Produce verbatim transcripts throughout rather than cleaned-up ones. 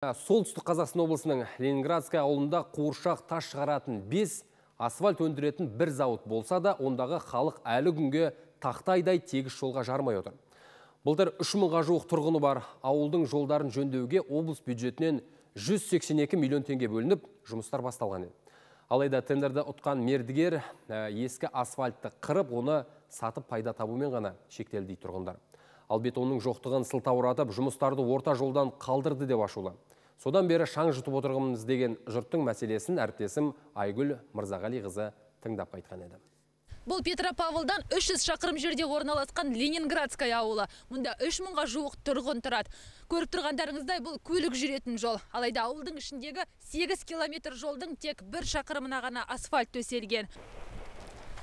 Солтүстік Қазақстан облысының Ленинградская ауылында қуыршақ тас шығаратын бес, асфальт өндіретін бір зауыт болса да, ондағы халық әлі күнге тақтайдай тегіс жолға жармай отыр. Былтыр үш мыңға жуық тұрғыны бар ауылдың жолдарын жөндеуге облыс бюджетінен жүз сексен екі миллион теңге бөлініп, жұмыстар басталған еді. Алайда тендерді ұтқан мердігер ескі асфальтты қырып, оны сатып пайда табумен ғана шектелді дейді тұрғындар. Ал бетонның жоқтығын сылтауратып, жұмыстарды орта жолдан қалдырды деп ашулы. Содан бері шаң жұтып отырғымыз деген жұрттың мәселесін әріптесім Айгүл Мырзағалиқызы тыңдап қайтқан еді. Бұл Петропавлдан үш жүз шақырым жерде орналасқан Ленинградская ауылы. Мұнда үш мыңға жуық тұрғын тұрады. Көріп тұрғандарыңыздай, бұл көлік жүретін жол. Алайда ауылдың ішіндегі сегіз километр жолдың тек бір шақырымына ғана асфальт төселген.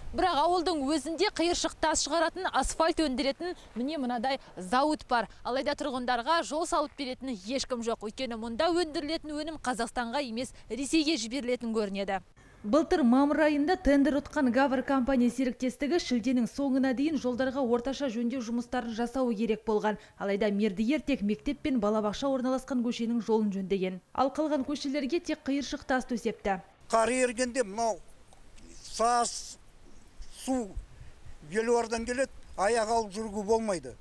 Бірақ ауылдың өзінде қиыршық тас шығаратын, асфальт өндіретін міне мынадай зауыт бар. Алайда тұрғындарға жол салып беретін ешкім жоқ. Өйткені мұнда өндірілетін өнім Қазақстанға емес, Ресейге жіберілетін көрінеді. Былтыр мамыр айында тендер ұтқан Гавр компания серіктестігі шілденің соңына дейін жолдарға орташа жөндеу жұмыстарын жасауы керек болған. Алайда мердігер тек мектеп пен балабақша орналасқан көшенің жолын жөндеген. Ал қалған көшелерге тек қиыршық тас төсепті. Қар ергенде мынау саз, су белуардан келеді, аяқ алып жүргі болмайды.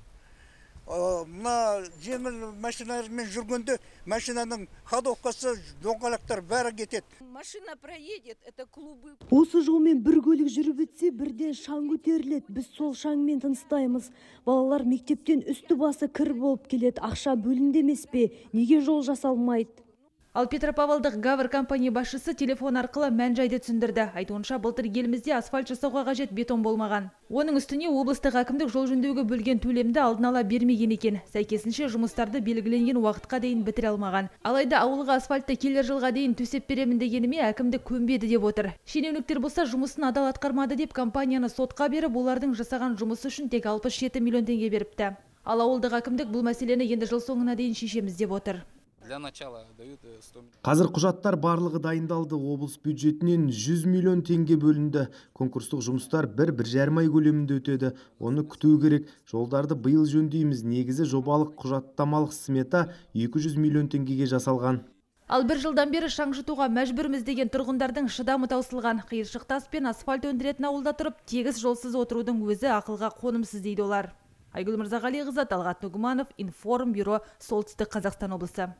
Мына жеңіл машиналармен жүргенде машинаның ходовкасы, доңғалақтар бәрі кетеді. Машина проедет, это клубы. Осы жолмен бір көлік жүріп өтсе, бірден шаң көтеріледі. Біз сол шаңмен тыныстаймыз. Балалар мектептен үсті басы кір болып келеді. Ақша бөлінді емес пе? Неге жол жасалмайды? Ал Петропавлдық Гавр компания басшысы телефон арқылы мән-жайды түсіндірді. Айтуынша, былтыр елімізде асфальт жасауға қажет бетон болмаған. Оның үстіне облыстық әкімдік жол жөндеуге бөлген төлемді алдын ала бермеген екен. Сәйкесінше жұмыстарды белгіленген уақытқа дейін бітіре алмаған. Алайда ауылға асфальтты келер жылға дейін төсеп беремін дегеніме әкімдік көнбеді деп отыр. Шенеуніктер болса жұмысын адал атқармады деп компанияны сотқа беріп, олардың жасаған жұмысы үшін тек алпыс жеті миллион теңге беріпті. Ал ауылдық әкімдік бұл мәселені енді жыл соңына дейін шешеміз деп отыр. Қазір құжаттар барлығы дайындалды. Облыс бюджетінен жүз миллион теңге бөлінді. Конкурстық жұмыстар бір-бір жарым ай көлемінде өтеді. Оны күту керек. Жолдарды биыл жөндейміз. Негізі жобалық құжаттамалық смета екі жүз миллион теңгеге жасалған. Ал бір жылдан бері шаң жұтуға мәжбүрміз деген тұрғындардың шыдамы таусылған. Қиыршық тас пен асфальт өндіретін ауылда тұрып, тегіс жолсыз отырудың өзі ақылға қонымсыз дейді олар. Айгүл Мырзағалиқызы, Талғат Нұғыманов, Информ бюро, Солтүстік Қазақстан облысы.